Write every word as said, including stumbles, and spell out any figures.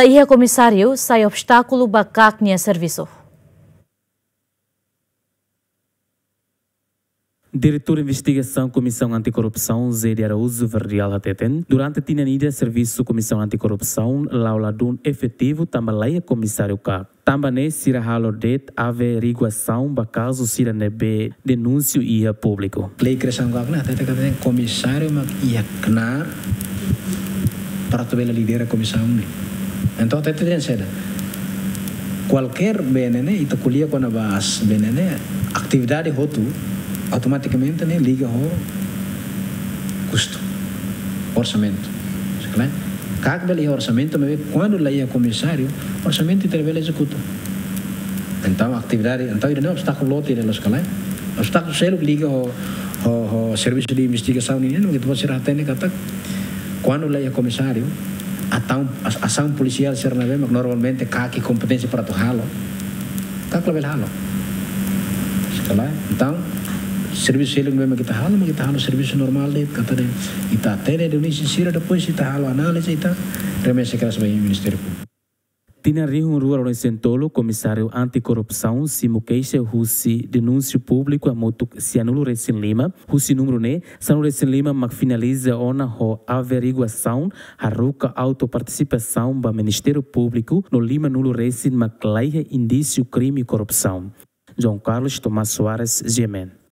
Laiha komisáriu sai obstákulu ba KAK nia servisu. Diretór Investigasaun Komisaun Antikorrupsaun, Zé de Araújo Verdial, hateten, durante tinan ida servisu Komisaun Antikorrupsaun la'o ladún efetivu tanba laiha komisáriu KAK. Tanba ne'e sira halo de'it averiguasaun ba kazu sira ne'ebé denunsia iha públiku. Lei kriasaun KAK ne'e hateten katak komisáriu mak iha knaar para atu bele lidera komisaun ne'e. Entaun hateten saida? Kualkér B N N, ita ko'alia kona-ba B N N, atividade hotu automatikamente ne'e liga ho kustu, orsamentu. Sekali, KAK bele iha orsamentu, maibé kuandu la iha komisáriu, orsamentu ita labele ezekuta. Entaun atividade, entaun ida-ne'e obstákulu loos ida, loos ka lae? Obstákulu seluk liga ho, ho, ho servisu de investigasaun nian, ita-boot sira hatene katak kuandu la iha komisáriu, ataun, as-, asaun polisiál sira ne'ebé mak normalmente KAK iha kompeténsia para atu halo, KAK labele halo. Sekali, entaun servisu seluk ne'ebé mak ita halo, mak ita halo servisu normál de'it, katak ita hatene denúnsia sira, depois ita halo análize, ita remete kedas ba Ministériu Públiku. Tinan rihun rua ruanulu-resin-tolu, Komisáriu Antikorrupsaun simu keixa husi denúnsiu públiku hamutuk sianulu-resin-lima, husi númeru ne'e, sanulu-resin-lima mak finaliza ona ho averiguasaun, haruka autu partisipasaun ba Ministériu Públiku, no limanulu-resin mak laiha indísiu krime korrupsaun. João Carlos Tomás Soares, G M N.